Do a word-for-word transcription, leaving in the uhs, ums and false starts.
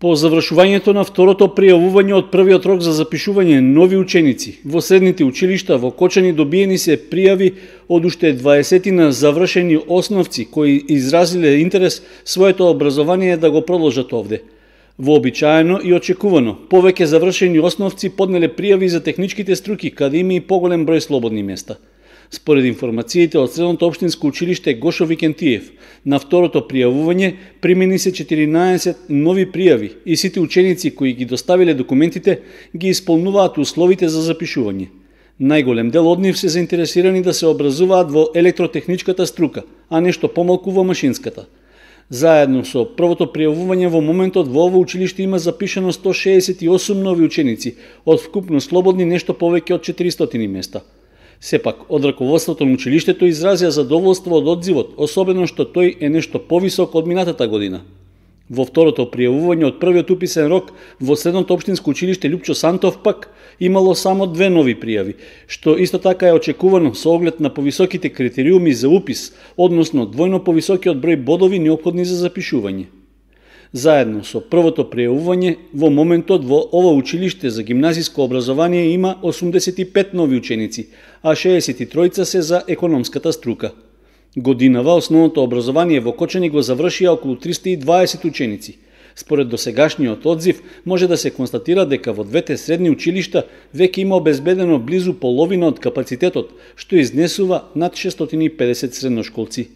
По завршувањето на второто пријавување од првиот рок за запишување нови ученици во средните училишта во Кочани добиени се пријави од уште дваесетина завршени основци кои изразиле интерес своето образование да го продолжат овде. Вообичаено и очекувано, повеќе завршени основци поднеле пријави за техничките струки, каде има и поголем број слободни места. Според информациите од Средното општинско училиште Гошо Викентиев, на второто пријавување примени се четиринаесет нови пријави и сите ученици кои ги доставиле документите ги исполнуваат условите за запишување. Најголем дел од нив се заинтересирани да се образуваат во електротехничката струка, а нешто помалку во машинската. Заедно со првото пријавување во моментот во ово училиште има запишано сто шеесет и осум нови ученици, од вкупно слободни нешто повеќе од четиристотини места. Сепак, од раководството на училиштето изразија задоволство од одзивот, особено што тој е нешто повисок од минатата година. Во второто пријавување од првиот уписен рок во Средното општинско училиште Лјупчо Сантов пак имало само две нови пријави, што исто така е очекувано со оглед на повисоките критериуми за упис, односно двојно повисокиот број бодови неопходни за запишување. Заедно со првото пријавување, во моментот во ова училиште за гимназиско образование има осумдесет и пет нови ученици, а шеесет и тројца се за економската струка. Годинава основното образование во Кочани го завршија околу триста и дваесет ученици. Според досегашниот одзив, може да се констатира дека во двете средни училишта веќе има обезбедено близу половина од капацитетот, што изнесува над шестстотини и педесет средношколци.